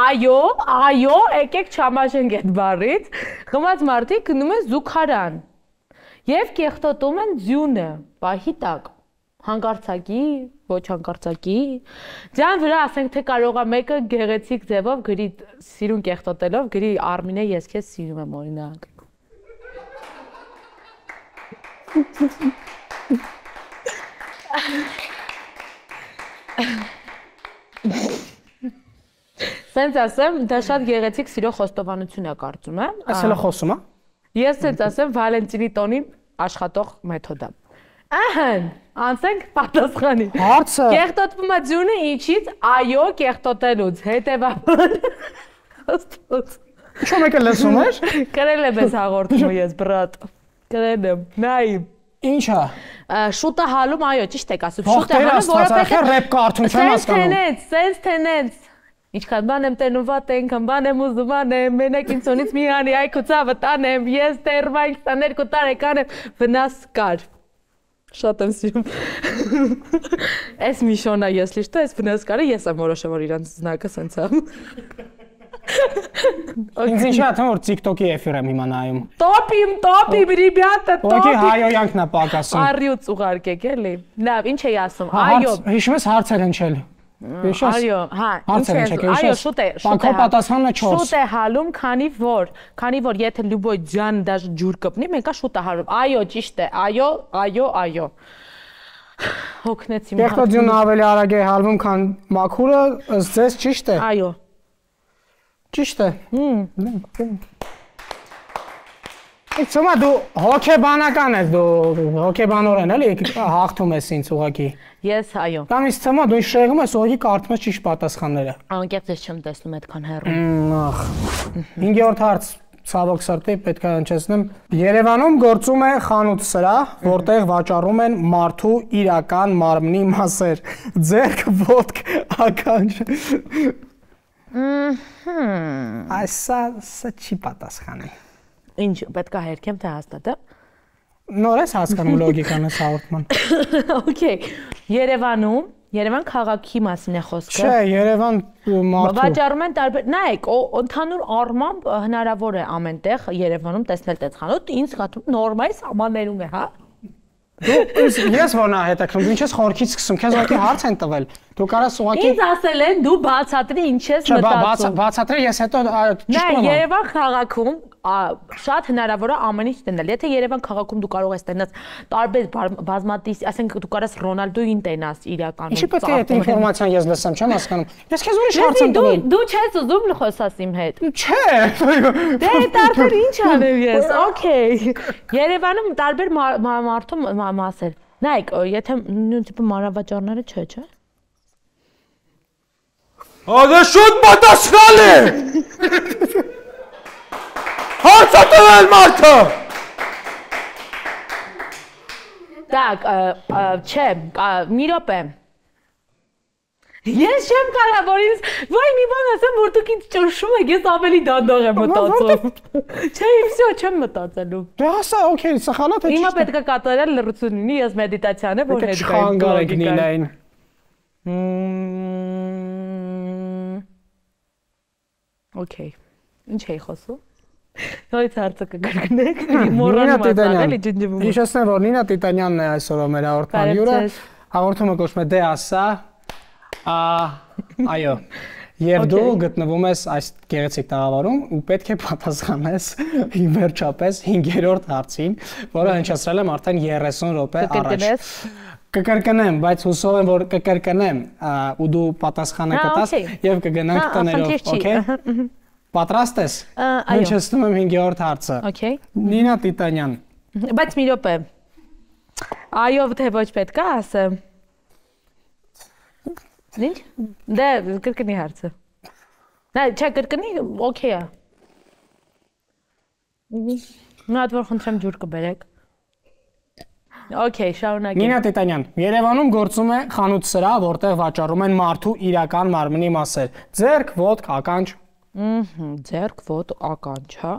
այո, այո, եկեք չամաշենք այդ բառից, խմած մարդիկ գնում են զուգարան և կեղտոտում են ձյունը, պահի տակ, հանկարծակի, ոչ հանկարծակի, ձյան վրա ասենք թե կարող է մեկը գեղեցիկ ձևով գրի սիրուն կեղտոտելով, գրի Արմինե ես քեզ սիրում եմ օրինակ։ Սենց ասեմ, դա շատ գեղեցիկ սիրո խոստովանություն է կարծում եմ։ Ասել է խոսում է։ Ես սենց ասեմ Վալենտինի տոնին աշխատող մեթոդ է։ Ահն, անցենք պատասխանի։ Հարցը։ Կեղտոտվում է ձյունը ինչից, այո, կեղտոտելուց, հետևաբար։ Խոստոց։ Ինչու մեկը լսում էր։ Կրել եմ ես հաղորդումը ես, բրատ։ Կրել եմ, նայ։ Ինչա։ Շուտը հալում, այո, ճիշտ եք ասում, շուտը հալում, որովհետև ռեփ կարդում չեմ հասկանում։ Սենց տենեց, սենց տենեց։ Ինչքան բան եմ տենում վատ ենքան, բան եմ ուզում անեմ, մենակ ինձոնից մի հանի այ քուցավը տանեմ, ես տերվայք տաներկու տարեկան եմ, վնաս կար։ Շատ եմ սիրում։ Այս Միշոնա, ես լիշտո, այս վնաս կարը, ես եմ որոշեմ, որ իրանց զնակը սենց եմ։ Ինձ ինչա թվում որ TikTok-ի էֆիր եմ հիմա նայում։ Տոպիմ, տոպիմ, ռիբյատը, տոպիմ։ Ոքի հայոյանքն է պակասում։ Առյուծ ուղարկեք էլի։ Լավ, ինչ էի ասում։ Այո։ Հիշում ես հարցեր հնչել։ Այո, հա, ինչ է, այո, շուտ է, շուտ է։ Պատասխանը չորս։ Շուտ է հալում, քանի որ, քանի որ եթե լյուբոյ ջան դաժ ջուր կպնի, մեկա շուտ է հալում։ Այո, ճիշտ է, այո, այո, այո։ Հոգնեցի։ Կեղտոտ ավելի արագ է հալվում, քան մաքուրը, ըստ ձեզ ճիշտ է։ Այո։ Ճիշտ է։ Հմ։ Իցումա դու հոգեբանական ես, դու հոգեբանորեն էլի հաղթում ես ինձ ուղղակի։ Ես այո։ Կամ ինձ թվում է դու շեղում ես ուղղակի կարդում ես ճիշտ պատասխանները։ Անկեղծ ես չեմ տեսնում այդքան հեռու։ Ախ։ հինգերորդ հարց, ցավոք սրտի պետք է հնչեցնեմ։ Երևանում գործում է խանութ սրահ, որտեղ վաճառում են մարդու իրական մարմնի մասեր՝ ձեռք, ոտք, ականջ։ Ահա։ Այսա սա չի պատասխանի։ Ինչ, պետք է հերքեմ թե հաստատեմ։ Նոր ես հասկանում լոգիկան այս հաղորդման։ Okay, Երևանում, Երևան քաղաքի մասին է խոսքը։ Չէ, Երևան մարդու։ Վաճառում են տարբեր, նայեք, ընդհանուր առմամբ հնարավոր է ամենտեղ Երևանում տեսնել այդ խանութ, ինձ հատում նորմալ սահմաններում է, հա։ Ես ոնա հետաքրքրում, ինչ ես խորքից սկսում, քեզ ուղղակի հարց են տվել։ Դու կարաս ուղղակի Ինձ ասել են դու բացատրի ինչ ես մտածում։ Չէ, բացատրի ես հետո ճիշտ եմ։ Նայ, Երևան քաղաքում շատ հնարավոր է ամեն ինչ տենալ։ Եթե Երևան քաղաքում դու կարող ես տենաս տարբեր բազմատիս, ասենք դու կարաս Ռոնալդոյին տենաս իրականում։ Ինչի պետք է այդ ինֆորմացիան ես լսեմ, չեմ հասկանում։ Ես քեզ ուրիշ հարց եմ տվել։ Դու չես ուզում խոսաս իմ հետ։ Չէ։ Դե տարբեր ինչ անեմ ես։ Okay։ Երևանում տարբեր մարդու մասեր։ Նայեք, եթե նույն տիպի մանրավաճառները չէ, չէ։ Ադե շուտ պատասխանի։ Հարցը տվել մարդը։ Так, չէ, մի րոպե։ Ես չեմ կարա, որ ինձ, ոյ մի բան ասեմ, որ դուք ինձ ճնշում եք, ես ավելի դանդաղ եմ մտածում։ Չէ, վсё, չեմ մտածելու։ Դե ասա, օքեյ, սխալա թե ճիշտ։ Հիմա պետք է կատարել լրություն լինի, ես մեդիտացիան եմ, որ հետ գայ։ Չխանգարեք Նինային։ Okay։ Ինչ էի խոսում։ Նույնիսկ հարցը կգրկնեք։ Մոռանում եմ էլի ջնջվում։ Հիշեցնեմ, որ Նինա Տիտանյանն է այսօր մեր հաղորդման հյուրը։ Հաղորդումը կոչվում է Դե ասա։ Այո։ Եվ դու գտնվում ես այս գեղեցիկ տաղավարում ու պետք է պատասխանես վերջապես հինգերորդ հարցին, որը հնչեցրել եմ արդեն երեսուն րոպե առաջ։ Կկրկնեմ, բայց հուսով եմ, որ կկրկնեմ ու դու պատասխանը կտաս եւ կգնանք տներով, օքեյ։ Պատրաստ ես։ Հնչեցնում եմ հինգերորդ հարցը։ Okay։ Նինա Տիտանյան։ Բայց մի րոպե։ Այո, թե ոչ պետք է ասեմ։ Ինչ։ Դե կրկնի հարցը։ Նա չէ կրկնի, օքեյ է։ Մի հատ որ խնդրեմ ջուր կբերեք։ Okay, շարունակենք։ Նինա Տիտանյան, Երևանում գործում է խանութ սրահ, որտեղ վաճառում են մարդու իրական մարմնի մասեր։ Ձեռք, ոտք, ականջ։ Ահա, ձեռք, ոտ, ականջ, հա։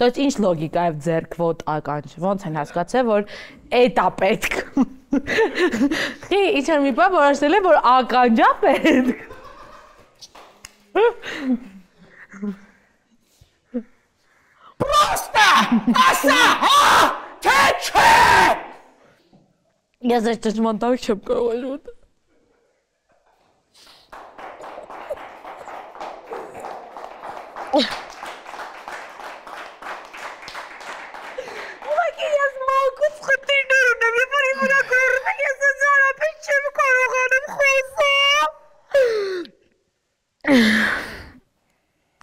Դոց ինչ լոգիկա է ձեռք, ոտ, ականջ։ Ոնց են հասկացել, որ էտա պետք։ Խի, իչան մի բան որոշել եմ, որ ականջա պետք։ Պրոստա, ասա, հա, թե չէ։ Ես այս ճշմարտակ չեմ կարող ելուտ։ Ուղղակի ես մանկուց խնդիրներ ունեմ, երբ որ իմ վրա գրում եք, ես ընդհանրապես չեմ կարողանում խոսալ։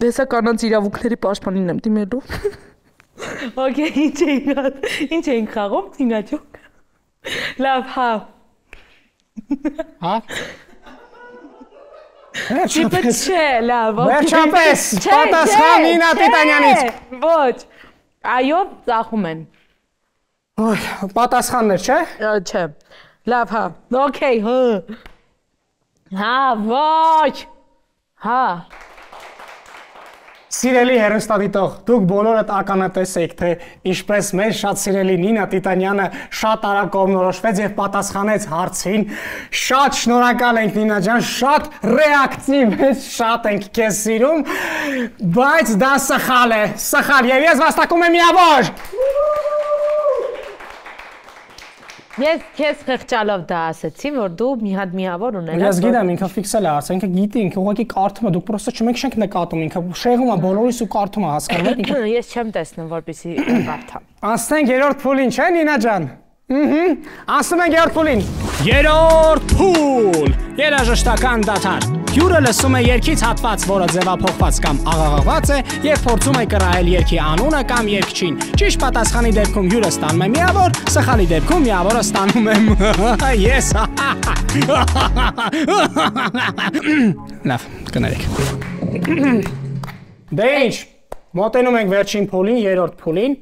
Դեսա կանանց իրավունքների պաշտպանին եմ դիմելու։ Okay, ինչ էինք խաղում, թինաճոկ։ Լավ, հա։ Հա։ Վերջապես չէ, լավ, օքեյ։ Վերջապես, պատասխան Նինա Տիտանյանից։ Ոչ։ Այո, ծախում են։ Ոյ, պատասխաններ, չէ։ Չէ։ Լավ, հա։ Okay, հա։ Հա, ոչ։ Հա։ Սիրելի հեռուստադիտող, դուք բոլորդ ականատես եք, թե ինչպես մեր շատ սիրելի Նինա Տիտանյանը շատ արագ կողմնորոշվեց եւ պատասխանեց հարցին։ Շատ շնորհակալ ենք Նինա ջան, շատ ռեակտիվ ես, շատ ենք քեզ սիրում, բայց դա սխալ է, սխալ եւ ես վաստակում եմ միավոր։ Ես քեզ խղճալով դա ասեցի, որ դու մի հատ միավոր ունենաս։ Ես գիտեմ, ինքը ֆիքսել է ասել, ինքը գիտի, ինքը ուղղակի կարդում է, դուք պրոստը չենք չենք նկատում, ինքը շեղում է բոլորիս ու կարդում է, հասկանում եք։ Ես չեմ տեսնում, որպեսզի կարդամ։ Անցնենք երրորդ փուլին, չէ՞ Նինա ջան։ Ըհը, անցնում ենք երրորդ փուլին։ Երրորդ փուլ։ Երաժշտական դադար։ Հյուրը լսում է երգից հատված, որը ձևափոխված կամ աղաղաղված է, եւ փորձում է կռահել երգի անունը կամ երգչին։ Ճիշտ պատասխանի դեպքում հյուրը ստանում է միավոր, սխալի դեպքում միավորը ստանում եմ ես։ Լավ, կներեք։ Դե ինչ, մոտենում ենք վերջին փուլին, երրորդ փուլին,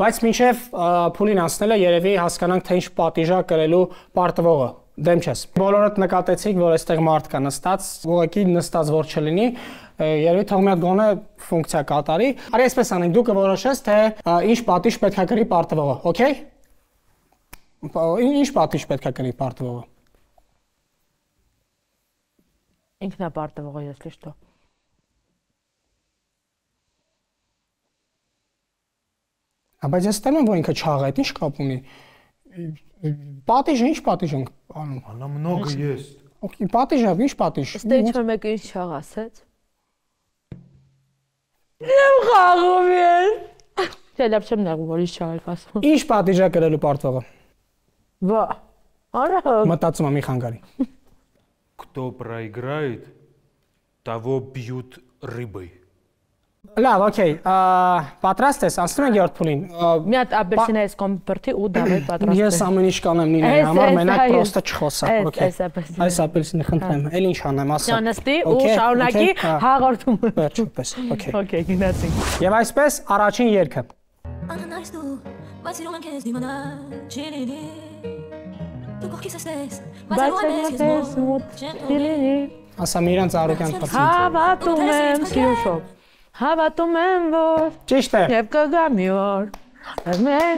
բայց մինչև փուլին անցնելը երևի հասկանանք, թե ինչ պատիժա կրելու պարտվողը։ Դեմ չես։ Բոլորդ նկատեցիք, որ այստեղ մարդ կա նստած, ուղղակի նստած որ չլինի, երևի թող մի հատ գոնե ֆունկցիա կատարի։ Արի այսպես անենք, դու կորոշես, թե ինչ պատիժ պետք է կրի պարտվողը, օքեյ։ Ինչ պատիժ պետք է կրի պարտվողը։ Ինքն է պարտվողը, если что։ Բայց ես ստեմ եմ, որ ինքը չաղ է, ինչ կապ ունի։ Պատիժը, ինչ պատիժ ենք անում։ Она много ест։ Okay, պատիժը, ինչ պատիժ։ Ստե ինչ-որ մեկը ինչ շաղ ասեց։ Եմ խաղում ես։ Չէ, լավ չեմ նեղում, որ ինչ շաղ եք ասում։ Ինչ պատիժա կրելու պարտվողը։ Վա, արա։ Մտածում եմ մի խանգարի։ Кто проиграет, того бьют рыбой։ Լավ, օքեյ, պատրաստ ես, անցնում ենք երրորդ փուլին։ Մի հատ ապերսինա ես կոմպերտի ու դավայ պատրաստ եմ։ Ես ամեն ինչ կանեմ Նինայի համար, մենակ պրոստը չխոսա, օքեյ։ Այս ապերսինը խնդրեմ, էլ ինչ անեմ, ասա։ Ճանստի ու շարունակի հաղորդումը։ Վերջապես, օքեյ։ Okay, գնացինք։ Եվ այսպես առաջին երգը։ Ասա մի իրանց առօրյան փոխի։ Հավատում եմ, սիրուշով։ Հավատում եմ, որ Ճիշտ է։ Եվ կգա մի օր։ Մեր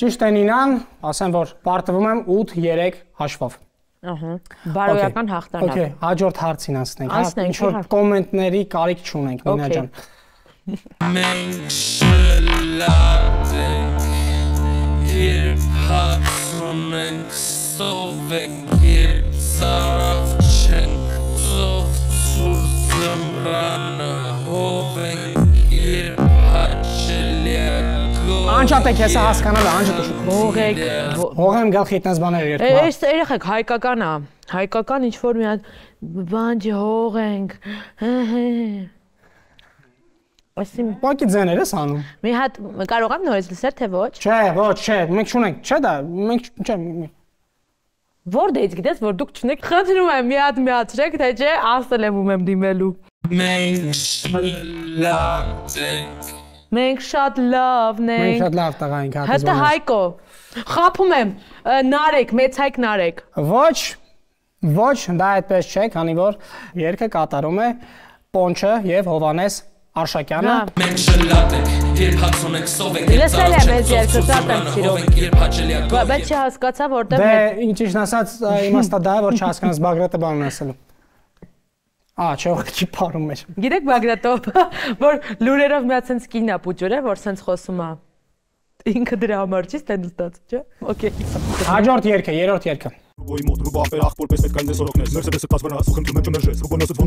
Ճիշտ է Նինան, ասեմ որ պարտվում եմ ութ երեք հաշվով։ Ահա։ Բարոյական հաղթանակ։ Okay, հաջորդ հարցին անցնենք, հա։ Անցնենք, Ինչ որ իհարկե։ կոմենտների կարիք չունենք, Նինա ջան։ Մենք շլատենք, երբ հացում ենք, սովենք, երբ ծարավ չենք, ծով ծուր զմրանը, հովենք, երբ հաչելյակ, Անջատեք, ես հասկանալ, անջատեք։ Հողեք։ Հողեմ գալխի իտնաց բաներ երկու։ Այս երեխեք հայկական է։ Հայկական ինչ որ մի հատ բան հողենք։ Այսին Պակի ձեներ ես անում։ մի հատ կարող եմ նորից լսել թե ոչ։ Չէ, ոչ, չէ, մենք չունենք, չէ դա, մենք չէ։ Որտեղից գիտես, որ դուք չունեք։ Խնդրում եմ մի հատ միացրեք, թե չէ, ասել եմ ում եմ դիմելու։ Մենք շլատենք, Մենք շատ լավն Մենք ենք։ շատ լավ տղա ենք հատը։ Հետո Հայկո։ Խափում եմ, Նարեկ, մեծ Հայկ Նարեկ։ Ոչ, ոչ, դա այդպես չէ, քանի որ երգը կատարում է Պոնչը եւ Հովանես Արշակյանը։ մենք շլատենք, երբ հացում ենք, սովենք, Լսել եմ այս երգը, շատ եմ սիրում։ երբ հաչելյակ, Բայց չհասկացա որտեղ Դե ինչ-ինչ ասած իմաստա դա է, որ չհասկանաս Բագրատը բանն ասելու։ Ա, չէ, ուղղակի փարում մեջ։ Գիտեք Բագրատով, որ լուրերով մի հատ sense կինա պուջուր է, որ sense խոսում է։ Ինքը դրա համար չի ստենդլ ստաց, չէ՞։ Okay։ Հաջորդ երգը, երրորդ երգը։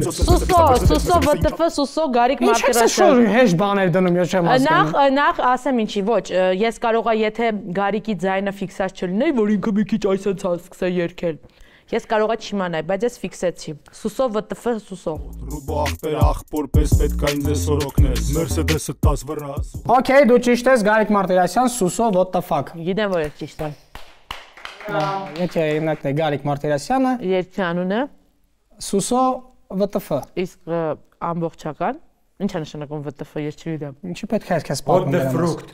Սուսո, Սուսո ՎՏՖ, Սուսո Գարիկ Ինչ ես Մարտիրոսյան։ շոր հեշ բաներ դնում, ես չեմ Նախ հասկանում։ նախ ասեմ ինչի, ոչ, ես կարողա եթե Գարիկի ձայնը ֆիքսած չլինի, որ ինքը մի քիչ այսպես հասկսե երգել։ Ես կարողա չիմանալ, բայց ես ֆիքսեցի։ Սուսո ՎՏՖ, Սուսո։ Okay, դու ճիշտ ես, Գարիկ Մարտիրոսյան, Սուսո what the fuck։ Գիտեմ որ ես ճիշտ եմ։ Եթե ինակն է Գարիկ Մարտիրոսյանը, Երգի անունը Սուսո ՎՏՖ։ իսկ ամբողջական ի՞նչ է նշանակում ՎՏՖ, ես չգիտեմ։ Ինչի պետք է այսքան սպառում դրանց։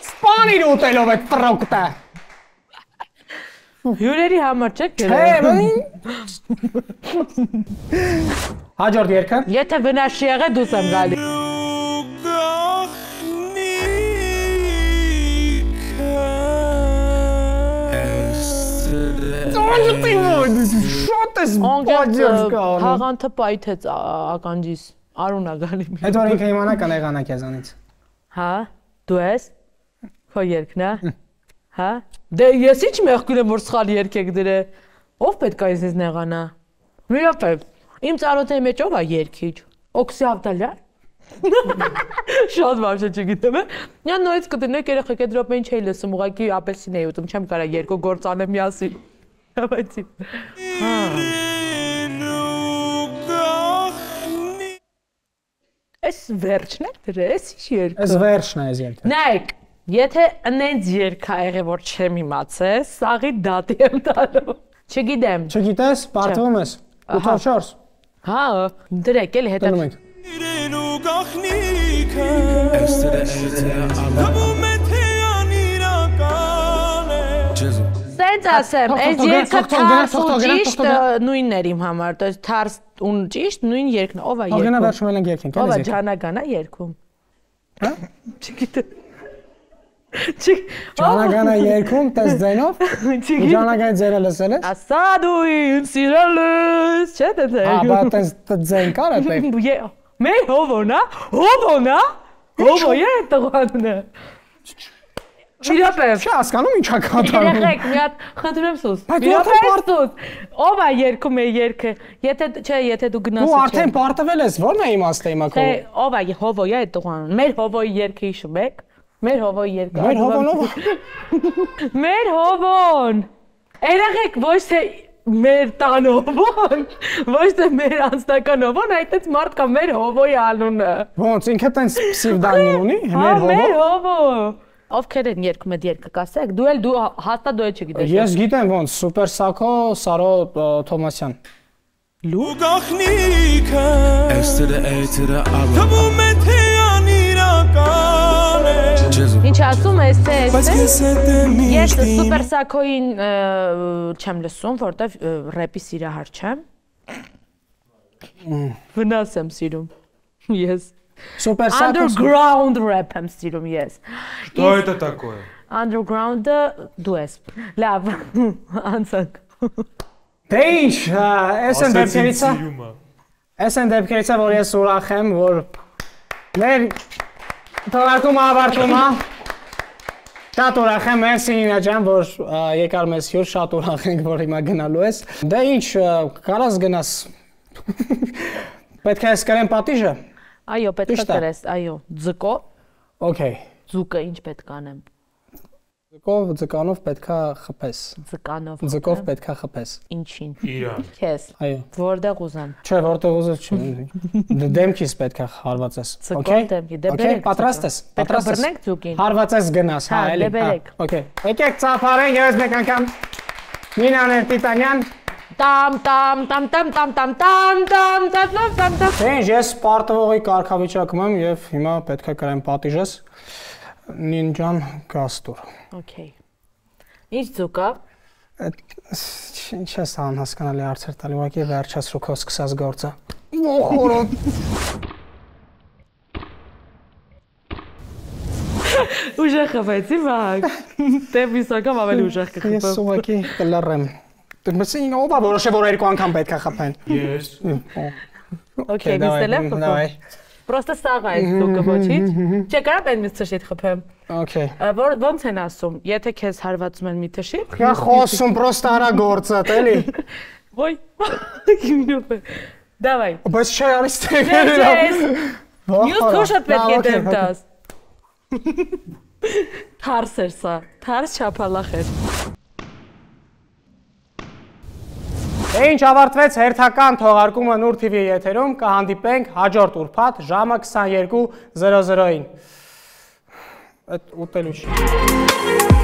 Սպանիր ուտելով այդ ֆրուկտը։ Հյուրերի համար չեք Չէ, գերել։ Հաջորդ երգը։ Եթե վնասի եղե դուս եմ գալի։ Շատ ես բաջերս կանում։ Հաղանթը պայթեց ականջիս։ Արունա գալի։ Այդ որ ինքը իմանա կանեղանա քեզանից։ Հա, դու ես։ Քո երգն է։ Հա։ Դե ես ի՞նչ մեղքուն եմ որ սխալ երգ եք դրել։ Ով պետք է ինձ նեղանա։ Միապետ։ Իմ ծառոթի մեջ ով է երգիչ։ Օքսի Ավդալյան։ Շատ բարձր չգիտեմ։ Նա նորից կդնեք երեխեք այդ րոպե ինչ էի լսում, ուղղակի ապելսին էի ուտում, չեմ կարա երկու գործ անեմ միասին։ Հավատի։ Հա։ Էս վերջն է դրե, էս ի՞նչ երգ։ Էս վերջն է այս երգը։ Նայեք, եթե ընենց երգ ա եղել որ չեմ իմացել, սաղի դատի եմ տալու։ Չգիտեմ։ Չգիտես, բարթվում ես։ ութ չորս։ Հա, դրեք էլի հետո։ Դնում ենք։ Սենց ասեմ, այս երգը թարս ու ճիշտ նույնն էր իմ համար, то есть թարս ու ճիշտ նույն երգն, ով է երգում։ Ողնա վերջում ենք երգենք, Ով է էլի։ Ջանագանա երգում։ Հա։ Չգիտեմ։ Ջանագանա երգում, տես ձայնով։ Ջանագանի ձայնը լսել ես։ Ասա դու ինձ սիրելիս, չէ՞ դե։ Հա, բա տես ձայն կար է։ Մեր հովոնա, հովոնա, հովո է տղանունը։ Իրապես։ Չի հասկանում ինչա կատարում։ Երեխեք, մի հատ խնդրեմ սուս։ Բայց դու Իրապես արդեն սուս։ Ով է երգում է երգը։ Եթե չէ, եթե դու գնաս։ Դու արդեն պարտվել ես, ո՞րն է իմաստը հիմա քո։ Թե ով է հովո է տղանուն։ Մեր հովոյի երգը հիշում եք։ Մեր հովոյի երգը։ Մեր հովոնով։ Մեր հովոն։ Երեխեք, ոչ թե մեր տան հովոն, ոչ թե մեր անձնական հովոն, այդպես մարդ կա մեր հովոյի անունը։ Ոնց ինքը տենց պսիվդանիմ ունի, մեր հովո։ Մեր հովո։ Ովքեր են երգում այդ երգը կասեք։ Դու էլ դու հաստատ դու չգիտես։ Ես գիտեմ ոնց, Սուպեր Սակո, Սարո Թոմասյան։ Լու գախնիկը Էստերը էյթերը արը Թվում է թե անիրական է Ինչ ասում ես թե ես Սուպեր Սակոյին չեմ լսում, որտեվ ռեպի սիրահար չեմ։ Վնաս եմ սիրում։ Ես Super Sack. Underground rap եմ սիրում ես։ Что это такое? Underground-ը դու ես։ Լավ, անցանք։ Դե ինչ, այս են դեպքերից է։ Այս են դեպքերից է, որ ես ուրախ եմ, որ մեր թողարկումը ավարտվում է։ Շատ ուրախ եմ, մերսի Նինա ջան, որ եկար մեզ հյուր, շատ ուրախ ենք, որ հիմա գնալու ես։ Դե ինչ, կարաս գնաս։ Պետք է ես կրեմ պատիժը։ Այո, պետք է կրես, այո, ձկո։ Okay։ Ձուկը ինչ պետք անեմ։ Ձկով, ձկանով պետք է խփես։ Ձկանով։ Ձկով պետք է խփես։ Ինչին։ Իրան։ Քեզ։ Այո։ Որտեղ ուզեմ։ Չէ, որտեղ ուզես չի։ Դեմքից պետք է հարվածես։ Okay։ Դեմքի, դե բերեք։ Պատրաստ ես։ Պատրաստ ես։ Բռնենք ձուկին։ Հարվածես գնաս, հա, էլի։ Դե բերեք։ Okay։ Եկեք ծափարենք եւս մեկ անգամ։ Նինան Տիտանյան։ Տամ տամ տամ տամ տամ տամ տամ տամ տամ տամ տամ։ Դե ինչ, ես պարտվողի կարգավիճակում եմ եւ հիմա պետք է կրեմ պատիժս։ Նինջան Գաստուր։ Okay։ Ինչ ձուկա։ Ինչ ես անհասկանալի հարցեր տալի, ուղղակի վերջացրու քո սկսած գործը։ Ոխորո։ Ուժեղ խփեցի, բակ։ Դե միսակամ ավելի ուժեղ կխփեմ։ Ես ուղղակի կլռեմ։ Դու ով է որոշե որ երկու անգամ պետք է խփեն։ Ես։ Okay, նստել եմ խփում։ Պրոստը սաղ է ձուկը, ոչինչ։ Չէ, կարա բեն մի թշիտ խփեմ։ Okay։ Որ ոնց են ասում, եթե քեզ հարվածում են մի թշիտ։ Կա խոսում պրոստը արա գործը, էլի։ Ոյ։ Գինուպ։ Դավայ։ Բայց չէ, արի ստեղ։ Յուս քոշը պետք է դեմ տաս։ Թարս էր սա, թարս չափալախ էր։ Ինչ ավարտվեց հերթական թողարկումը Նուր թի վի եթերում, կհանդիպենք հաջորդ ուրբաթ ժամը քսաներկու զրո զրոին։ Այդ ուտելու չի։